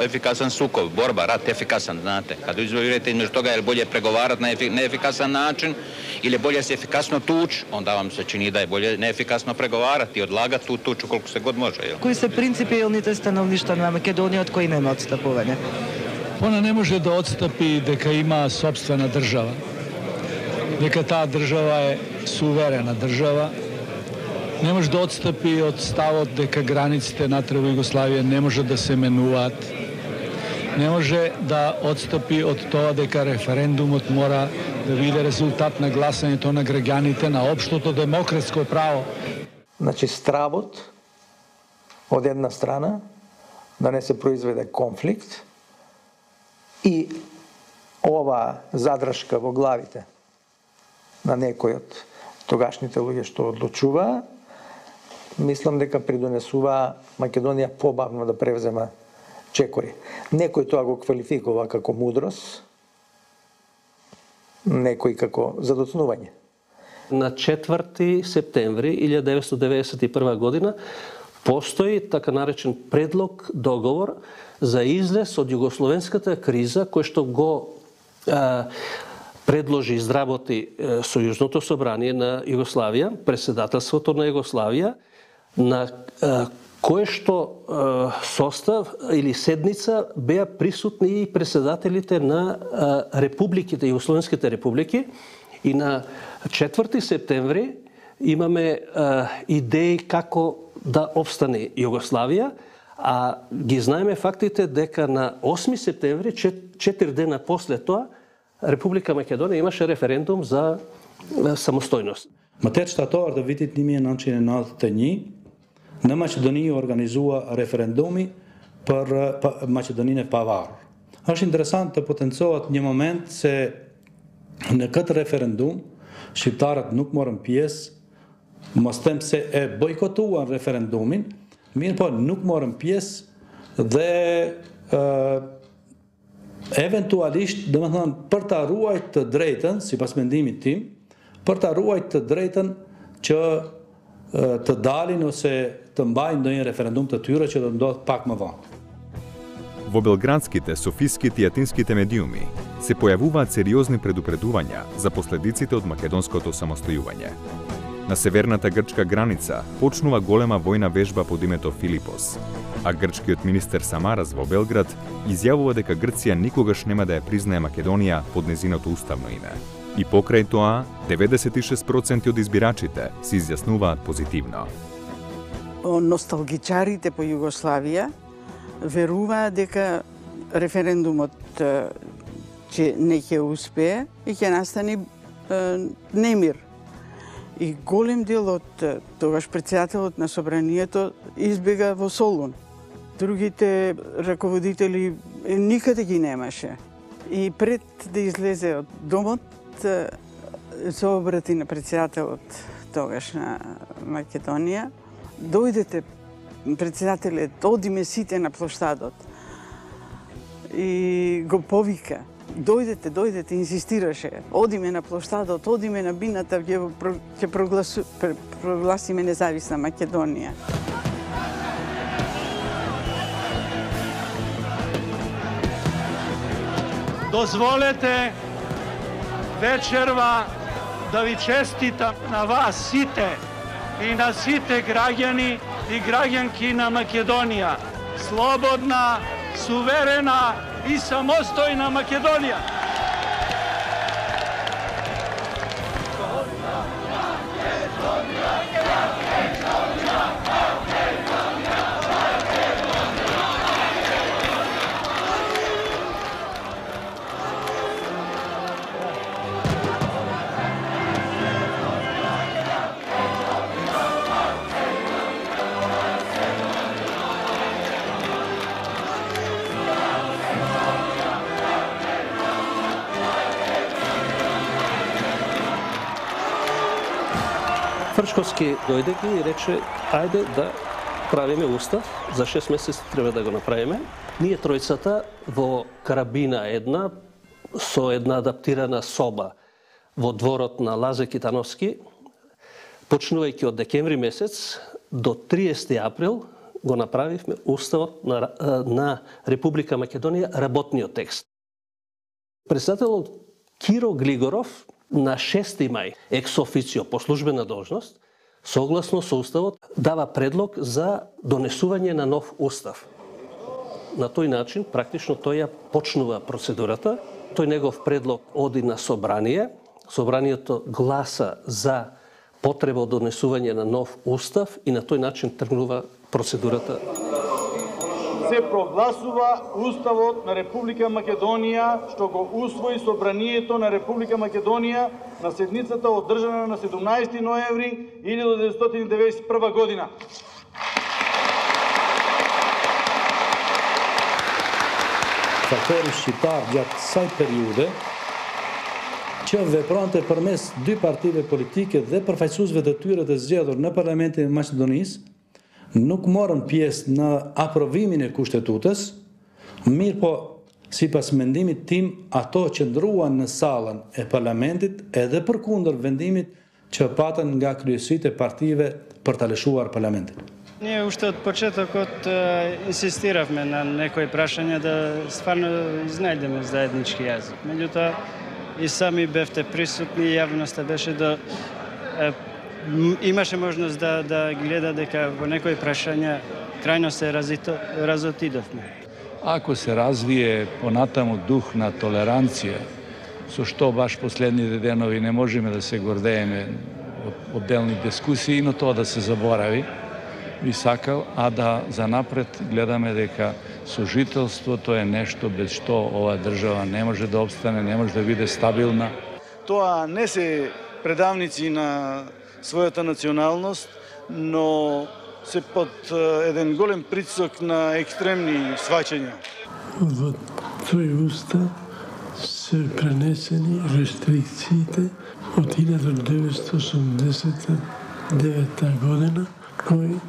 efikasan sukob, borba, rat efikasan, znate. Kad izvolite između toga je li bolje pregovarati na neefikasan način ili je bolje se efikasno tući, onda vam se čini da je bolje neefikasno pregovarati i odlagati tu tuču koliko se god može. Кои се принципиалните становишта на Македонија од кои нема отстапување? Она не може да отстапи дека има собствена држава. Дека таа држава е суверена држава. Не може да отстапи од ставот дека границите натре во Југославија не може да се менуваат. Не може да отстапи од тоа дека референдумот мора да биде резултат на гласањето на граѓаните на општото демократско право. Значи стравот од една страна да не се произведе конфликт и ова задршка во главите на некој од тогашните луѓе што одлучува, мислам дека придонесува Македонија побавно да превзема чекори. Некој тоа го квалификува како мудрост, некој како задоцнување. На 4 септември 1991 година постои така наречен предлог договор за излез од југословенската криза кој што го предложи и изработи Сојузното собрание на Југославија, председателството на Југославија, на кое што состав или седница беа присутни и председателите на републиките, југословенските републики, и на 4 септември имаме идеи како да обстане Југославија, а ги знаеме фактите дека на 8 септември, 4 дена после тоа, Република Македонија имаше референдум за самостојност. Më tetë shtator të vitit 1991, në Maqedoni organizua referendumi për Maqedoninë e pavarur. Është interesant të potencohet një moment se në këtë referendum shqiptarët nuk morën pjesë, mos them se e bojkotuan referendumin, mirë po nuk morën pjesë dhe eventualisht, domethënë, për ta ruajtur të drejtën, sipas mendimit tim, për ta ruajtur të drejtën që të dalin ose të mbajnë ndonjë referendum të tyre që do ndodh pak më vonë. Во белградските, софиските и атинските медиуми се појавуваат сериозни предупредувања за последиците од македонското самостојување. На северната грчка граница почнува голема војна вежба под името Филипос, а грчкиот министер Самарас во Белград изјавува дека Грција никогаш нема да ја признае Македонија под незиното уставно име. И покрај тоа, 96% од избирачите се изјаснуваат позитивно. Носталгичарите по Југославија веруваат дека референдумот че не ќе успее и ќе настане немир. И голем дел од тогаш председателот на собранието избега во Солун. Другите раководители никаде ги немаше. И пред да излезе од домот, се обрати на председателот тогаш на Македонија. Дојдете, председателот, одиме сите на площадот. И го повика. Дојдете, инсистираше. Одиме на площадот, одиме на бината, ќе прогласиме независна Македонија. Дозволете вечерва да ви честитам на вас сите и на сите граѓани и граѓанки на Македонија. Слободна, суверена и самостојна Македонија. Фрчковски дојде и рече, ајде да правиме устав, за 6 месеци треба да го направиме. Ние тројцата во карабина една, со една адаптирана соба во дворот на Лазе Китановски, почнувајќи од декември месец до 30 април го направивме уставот на Република Македонија, работниот текст. Председателот Киро Глигоров на 6 мај, екс официо, по службена должност, согласно со уставот, дава предлог за донесување на нов устав. На тој начин, практично, тој ја почнува процедурата. Тој негов предлог оди на собрание. Собранието гласа за потреба од донесување на нов устав и на тој начин тргнува процедурата. Се прогласува Уставот на Република Македонија, што го усвои Собранието на Република Македонија на седницата одржана на 17 ноември 1991 година. faktori shqiptar gjatë kësaj periude që veprante përmes dy partive politike dhe përfaqësuesve të tyre të zgjedhur në Parlamentin e Maqedonisë, nuk morën pjesë në aprovimin e kushtetutës, mirë po, sipas mendimit tim, ato që ndruan në sallën e parlamentit edhe përkundër vendimit që patën nga kryesitë e partive për ta lëshuar parlamentin. Ние уште од почетокот инсистиравме на некои прашања да стварно изнајдеме заеднички јазик. Меѓутоа, и сами бевте присутни, јавноста беше да имаше можност да гледа дека во некои прашања крајно се разотидовме. Ако се развие понатаму дух на толеранција, со што баш последните денови не можеме да се гордееме од отделни дискусии, но тоа да се заборави, би сакал, а да за напред гледаме дека сожителството е нешто без што оваа држава не може да обстане, не може да биде стабилна. Тоа не се предавници на својата националност, но се под еден голем притисок на екстремни сваќања. Во тој устав се пренесени рестрикциите од 1989 година, кој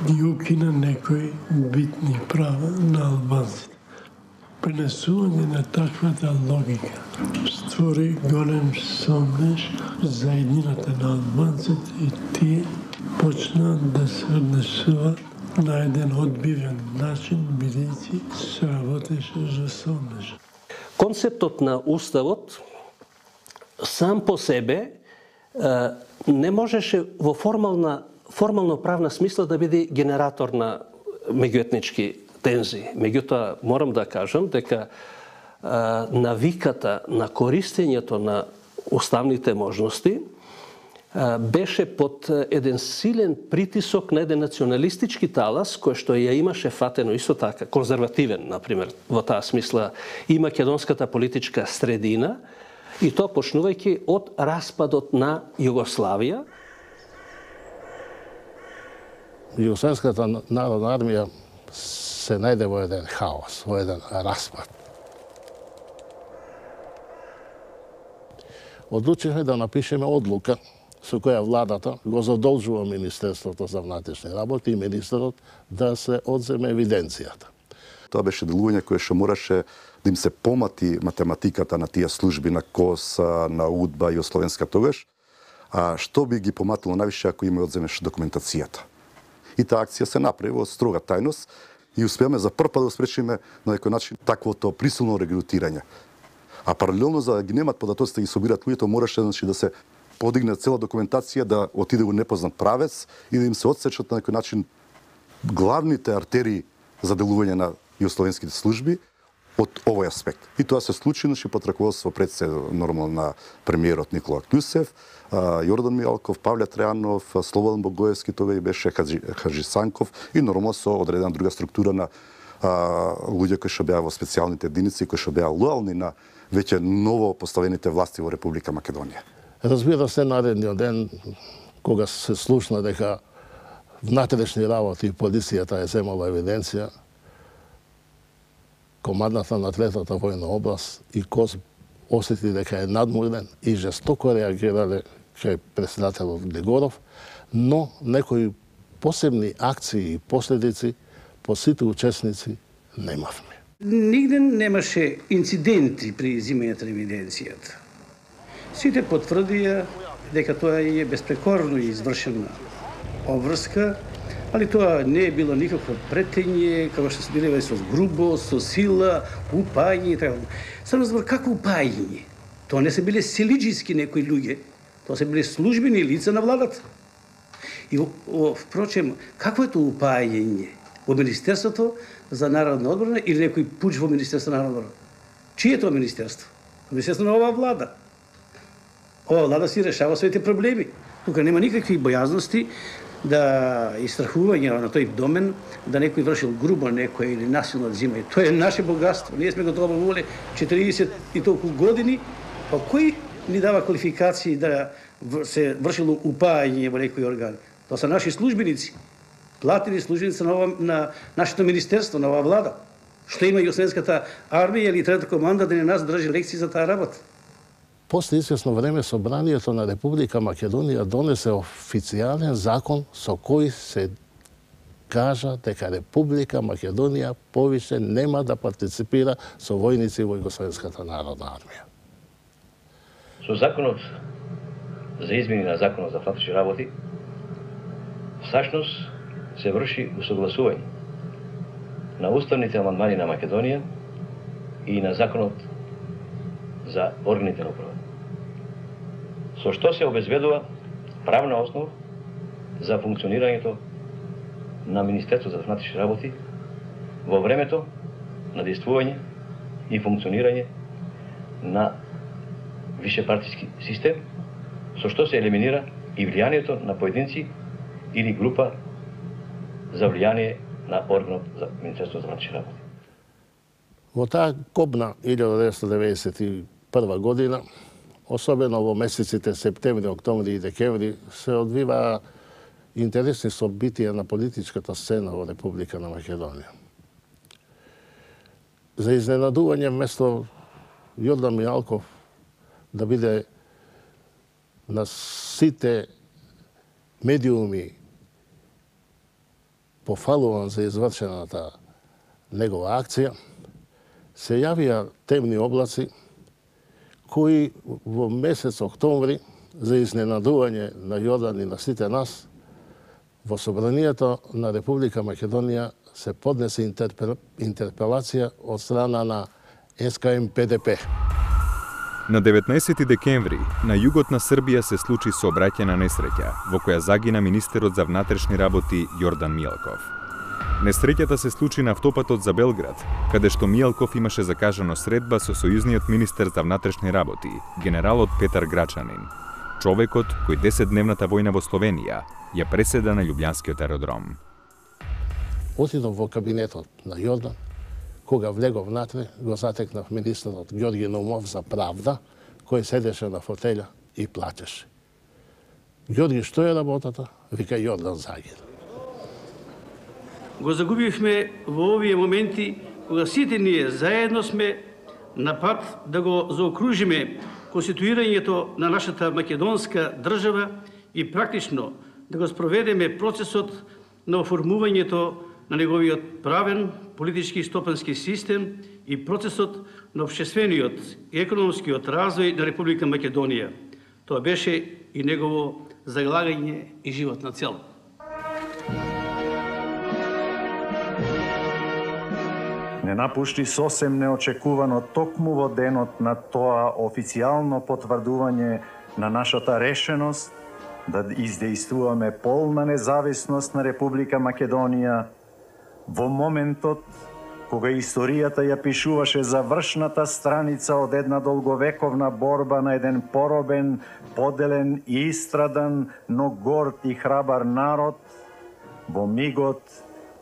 ги укина некои битни права на албанците. Пренесување на таквата логика створи голем сомнеж за еднината на албанците и тие почнаа да се однесуваат на еден одбивен начин, бидејќи се работеше за сомнеж. Концептот на уставот сам по себе не можеше во формално правна смисла да биде генератор на меѓуетнички тензии. Меѓутоа, морам да кажам дека навиката на користењето на уставните можности беше под еден силен притисок на еден националистички талас, кој што ја имаше фатено исто така, конзервативен, например, во таа смисла и македонската политичка средина, и тоа почнувајќи од распадот на Југославија. Југославската народна армија се најде во еден хаос, во еден распад. Одлучивме да напишеме одлука со која владата го задолжува Министерството за внатрешни работи и министерот да се одземе евиденцијата. Тоа беше делување кое што мораше да им се помати математиката на тие служби на КОС, на УДБА и Југословенска тогаш, а што би ги поматило највише ако им одземеш документацијата. И таа акција се направи во строга тајност и успеаме за прв пат да спречиме на некој начин таквото присилно регрутирање. А паралелно за да ги немат податоците да ги собираат луѓето, мораше да се подигне цела документација, да отиде во непознат правец и да им се отсечат на некој начин главните артерии за делување на југословенските служби од овој аспект. И тоа се случи под раководство предсе нормално на премиерот Никола Клюсев, Јордан Мијалков, Павле Трајанов, Слободан Богоевски, тоа и беше Хаджи Санков и нормално со одредена друга структура на луѓе кои што беа во специјалните единици, кои што беа лојални на веќе ново поставените власти во Република Македонија. Разбира се, наредниот ден, кога се слушна дека внатрешни работи и полицијата е земала евиденција, командата на третата војна област и КОС осети дека е надморен и жестоко реагирале кај председателот Глигоров, но некои посебни акции и последици по сите учесници немавме. Нигде немаше инциденти при изимањето на евиденцијата. Сите потврдија дека тоа е безпрекорно извршена обврска, али тоа не е било никакво претење, како што се биле со грубо, со сила, упајање и така. Само збор како упајање? Тоа не се биле силиџиски некои луѓе, тоа се биле службени лица на владата. И впрочем, какво е тоа упајање? Во Министерството за народна одбрана или некој пуч во Министерството на народна одбрана? Чие е тоа министерство? Министерство на оваа влада. Ова влада си решава своите проблеми. Тука нема никакви бојазности да истрахување на тој домен, да некој вршил грубо некој или насилно взимање. Тоа е наше богатство. Ние сме го доброволе 40 и толку години, па кој ни дава квалификации да се вршило упајање во некои органи? Тоа се наши службеници, платени службеници на нашето министерство, на оваа влада. што има југославенската армија или трета команда да не нас држи лекции за таа работа. После известно време Собранието на Република Македонија донесе официјален закон со кој се кажа дека Република Македонија повише нема да партиципира со војници во Југославенската народна армија. Со законот за измени на законот за внатрешни работи, всушност се врши усогласување на уставните амандмани на Македонија и на законот за органите на управа. Со што се обезбедува правна основа за функционирањето на Министерството за внатрешни работи во времето на действување и функционирање на вишепартиски систем, со што се елиминира и влијанието на поединци или група за влијание на органот за Министерството за внатрешни работи. Во таа кобна 1991 година, особено во месеците септември, октомври и декември, се одвиваа интересни собитија на политичката сцена во Република на Македонија. За изненадување, вместо Јордан Мијалков да биде на сите медиуми пофалуван за извршената негова акција, се јавија темни облаци кои во месец октомври, за изненадување на Јордан и на сите нас, во Собранието на Република Македонија се поднесе интерпелација од страна на СКМ-ПДП. На 19 декември на југот на Србија се случи сообраќајна несреќа, во која загина министерот за внатрешни работи Јордан Мијалков. Несреќата се случи на автопатот за Белград, каде што Мијалков имаше закажано средба со сојузниот министер за внатрешни работи, генералот Петар Грачанин, човекот кој 10-дневната војна во Словенија ја преседа на Љубљанскиот аеродром. Отидов во кабинетот на Јордан, кога влегов внатре, го затекнав министерот Ѓорги Наумов за правда, кој седеше на фотеља и плачеше. Ѓорги, што е работата? Вика, Јордан загина. Го загубивме во овие моменти, кога сите ние заедно сме на пат да го заокружиме конституирањето на нашата македонска држава и практично да го спроведеме процесот на оформувањето на неговиот правен, политички и стопански систем и процесот на општествениот и економскиот развој на Република Македонија. Тоа беше и негово залагање и животна цел. Не напушти сосем неочекувано токму во денот на тоа официјално потврдување на нашата решеност да издействуваме полна независност на Република Македонија во моментот кога историјата ја пишуваше завршната страница од една долговековна борба на еден поробен, поделен и истрадан, но горд и храбар народ, во мигот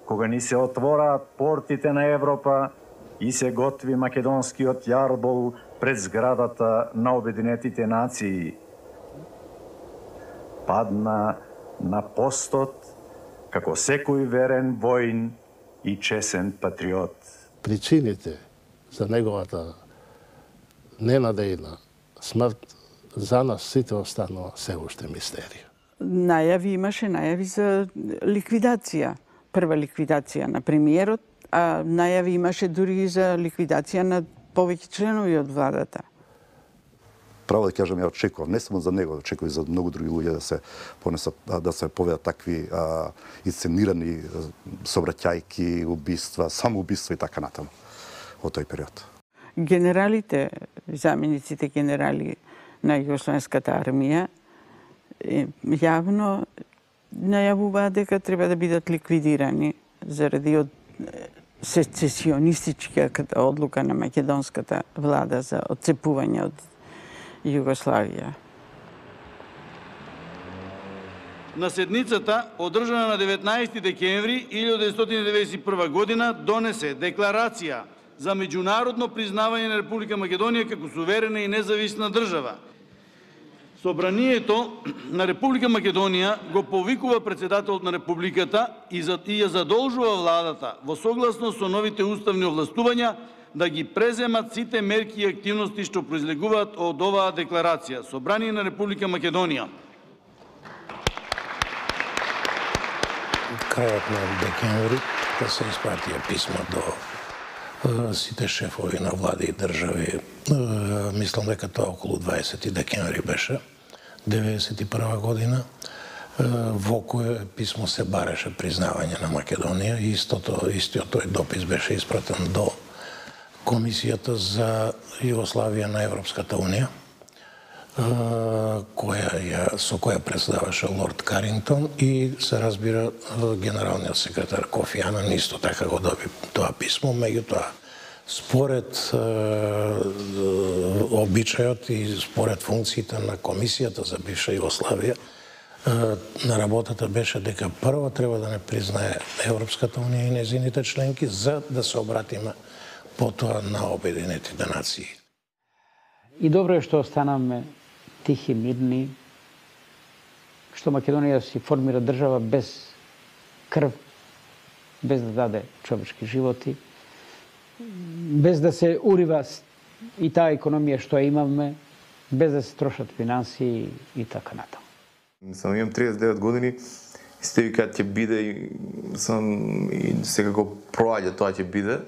кога ни се отвораат портите на Европа и се готви македонскиот јарбол пред зградата на Обединетите нации. Падна на постот како секој верен воин и чесен патриот. Причините за неговата ненадејна смрт за нас сите останува се уште мистерија. Имаше најави за ликвидација. Прва ликвидација на премиерот, а најави имаше дури и за ликвидација на повеќе членови од владата. Право да кажам, ја очекувам, не само за него, очекувам и за многу други луѓе да се понесат, да се поведат такви исценирани собраќајки, убиства, самоубиства и така натаму во тој период. Генералите, замениците генерали на Југословенската армија јавно најавуваат дека треба да бидат ликвидирани заради од сецесионистичката одлука на македонската влада за отцепување од Југославија. На седницата, одржана на 19 декември 1991 година, донесе декларација за меѓународно признавање на Република Македонија како суверена и независна држава. Собранието на Република Македонија го повикува председателот на Републиката и ја задолжува владата во согласност со новите уставни овластувања да ги преземат сите мерки и активности што произлегуваат од оваа декларација. Собрание на Република Македонија. Крајот на декември да се испратија писмо до сите шефови на влади и држави. Мислам дека тоа околу 20 декември беше, 1991 година, во кое писмо се бареше признавање на Македонија и истиот тој допис беше испратен до Комисијата за Југославија на Европската Унија, со која председаваше лорд Карингтон и се разбира генералниот секретар Кофи Анан исто така го доби тоа писмо, меѓутоа според обичајот и според функциите на Комисијата за бивша Југославија, на работата беше дека прво треба да не признае Европската Унија и незините членки за да се обратиме потоа на Обединетите нации. И добро е што останаме тихи, мирни, што Македонија си формира држава без крв, без да даде човечки животи, без да се урива и таа економија што имаме, без да се трошат финансии и така натаму. Сам имам 39 години и сте кога ќе биде и секако проаѓа тоа ќе биде.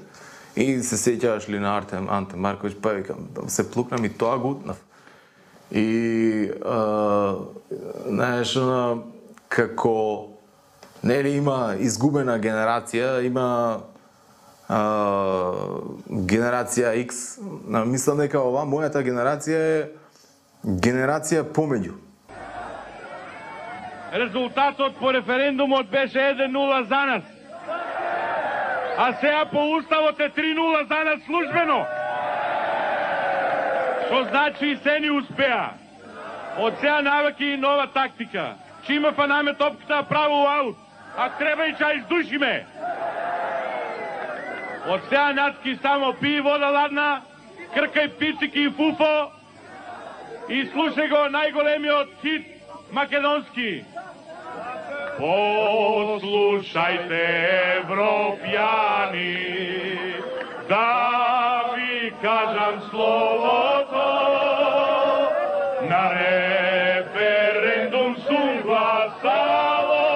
И се сеќаваш ли на Анте Марковиќ, па викам, се плукнам и тоа го утнав. И, знаеш, како, нели има изгубена генерација, има генерација X. Мислам дека ова, мојата генерација е генерација помеѓу. Резултатот по референдумот беше 1-0 за нас. А сега по уставот е 3-0 за нас службено. Што значи и се ни успеа. Од сега навеки нова тактика. Чима па наме топката право аут. А треба и ча издушиме. Од сега натки само пи вода ладна, кркај пицики и фуфо и слушај го најголемиот хит македонски. Послушајте, европјани, да ви кажам словото, на референдум сум гласало,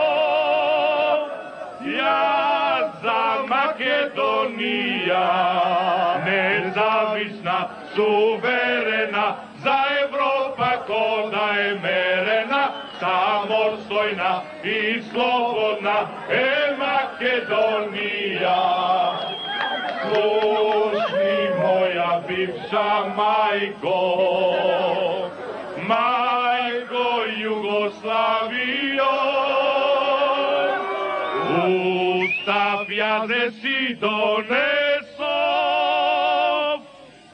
јас за Македонија, независна, суверена, за Европа кода е мерена, самостојна и слободна е Македонија. Слушни моја бивша мајко, мајко Југославијо, устав јазе си донесов,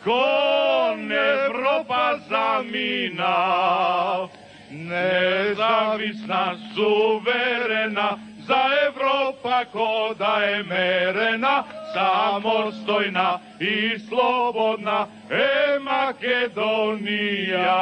кон Европа заминав. Независна, суверена, за Европа кода е мерена, самостојна и слободна е Македонија.